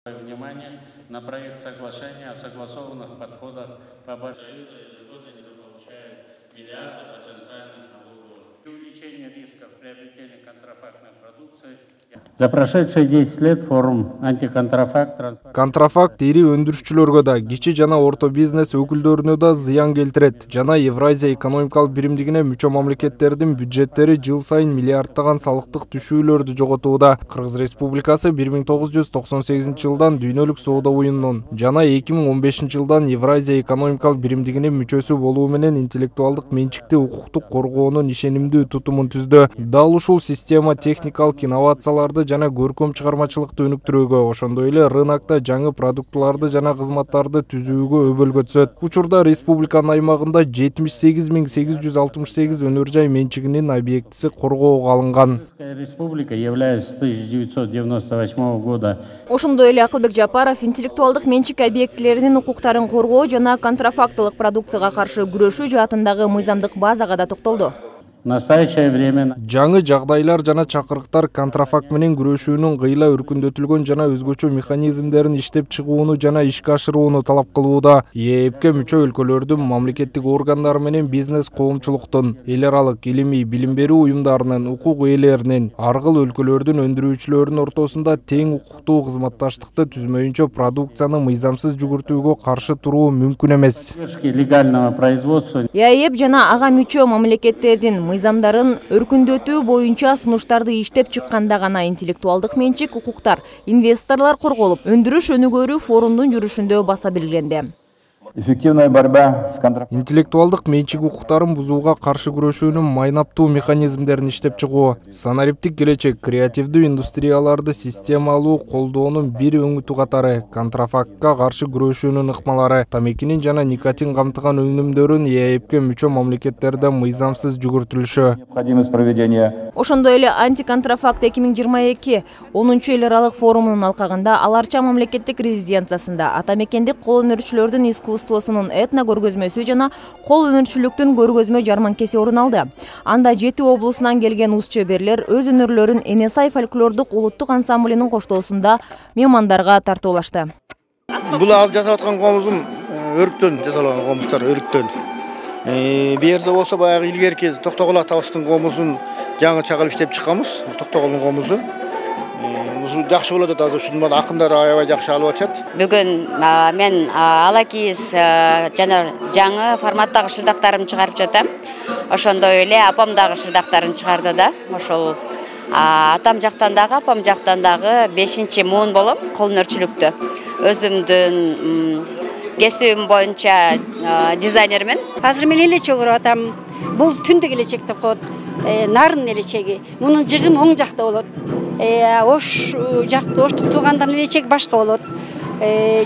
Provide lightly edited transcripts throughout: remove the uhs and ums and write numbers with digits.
Внимание на проект соглашения о согласованных подходах по Союзу ежегодно недополучает миллиарды потенциальных налоговых. Увеличение рисков приобретения контрафактной продукции. За прошедшие 10 лет форум антиконтрафакт. Контрафакт ири өндүрүшчүлөргө да, кичи жана орто бизнес өкүлдөрүнө да зыян келтирет. Жана Евразия экономикалык биримдигине мүчө мамлекеттердин бюджеттери жыл сайын миллиардтаган салыктык түшүүлөрдү жоготууда. Кыргыз Республикасы 1998 жылдан дүйнөлүк соода уюмунун жана 2015 жылдан Евразия экономикалык биримдигинин мүчөсү болуу менен интеллектуалдык менчикти укуктук коргоонун ишенимдүү тутумун түздү. Дал ушул система техникалык инновацияларды жана көркөм чыгармачылыкты өнүктүрүүгө, ошондой эле рынокто жаңы продуктларды жана кызматтарды түзүүгө өбөлгө түзөт. Учурда республиканын аймагында 78.868 өнөр жай менчигинин объектиси коргоого алынган. Республика является с 1998 года. Ошондой эле Акылбек Жапаров интеллектуалдык менчик объектилеринин укуктарын коргоо жана контрафактылык продукцияга каршы күрөшүү жаатындагы мыйзамдык базага да токтолду. В настоящее время жаңы жагдайлар жана чакырыктар контрафакт менен күрөшүүнүн кыйла өркүндөтүлгөн жана өзгөчө механизмдерин иштеп чыгууну жана ишке ашырууну талап кылууда. ЕЭПке мүчө өлкөлөрдүн мамлекеттик органдары менен бизнес коомчулуктун, эл аралык илимий билим берүү уюмдарынын, укук ээлеринин, аргыл өлкөлөрдүн өндүрүүчүлөрүнүн ортосунда тең укуктуу кызматташтыкты түзмөйүнчө продукцияны мыйзамсыз жүгүртүүгө каршы туруу мүмкүн эмес. Легального производства. ЕЭП жана ага мүчө мамлекеттердин мыйзамдарын өркүндөтүү боюнча сунуштарды иштеп чыкканда гана интеллектуалдык менчик укуктар, инвесторлор корголуп, өндүрүш өнүгөрү форумдун жүрүшүндө баса белгиленди. Эффективная борьба с контрафактом. Интеллектуалдык менчик укуктарын бузууга каршы күрөшүүнүн майнаптуу механизмдерин иштеп чыгуу, санариптик келечек, креативдүү индустрияларды системалуу колдоонун бир өңүтү катары, контрафактка каршы күрөшүүнүн ыкмалары, тамекинин жана никотин камтыган өнүмдөрүн ЕЭПке мүчө мамлекеттерде мыйзамсыз жүгүртүлүшү. Необходимость проведения. Ошондой эле антиконтрафакт 2022 10 эл аралык форумунун алкагында Аларча мамлекеттик резиденциясында атамекендик кол өнөрчүлөрдүн искусствосунун этно көргөзмөсү жана кол өнөрчүлүктүн көргөзмө жарманкеси орун алды. Анда 7 облусунан келген уз чеберлер өз өнөрлөрүн Энесай фольклордук улуттук ансамблинин коштоосунда меймандарга тартуулашты. Бул ал жасап аткан комузум өрүктөн жасалган комуздар, өрүктөн. Берде болсо баягы илгерки Токтогул атабыздын комузун жаңы чагылып иштеп чыкканбыз. Токтогулдун комузу. Ушул жакшы болот да, ушуну акындар аябай жакшы алып атышат. Бүгүн мен алакиз жана жаңы форматтагы шырдактарымды чыгарып жатам. Ошондой эле апам дагы шырдактарын чыгарды да. Ошол атам жактан дагы, апам жактан дагы 5-муун болом кол өнөрчүлүктө. Өзүмдүн кесибим боюнча дизайнермен. Азыр мен элечек уруп атам. Бул түндүк элечек деп коет. Нарын элечеги. Мунун жыгым оң жакта болот. Ош жакты оштук туугандан элечек башка болот.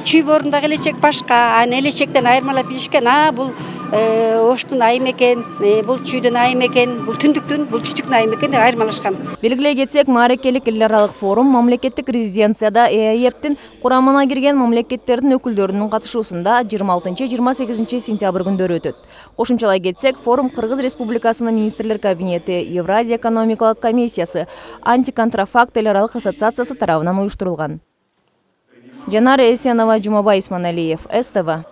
Чүй борундагы элечек башка, аны элечектен айырмалап билишкен. Бул оштун айым экен, бул чүйдүн айым экен, бул түндүктүн, бул түштүктүн айым экен деп айырмалашкан. Белгилей кетсек, маарекелик эл аралык форум мамлекеттик резиденцияда ЕЭПтин курамына кирген мамлекеттердин өкүлдөрүнүн катышуусунда 26-28 сентябрь күндөрү өтөт. Кошумчалай кетсек, форум Кыргыз Республикасынын министрлер кабинети, Евразия экономикалык комиссиясы, антиконтрафакт эл аралык ассоциациясы тарабынан уюштурулган. Жанара Эсенова, Жумабай Исманалиев, СТВ.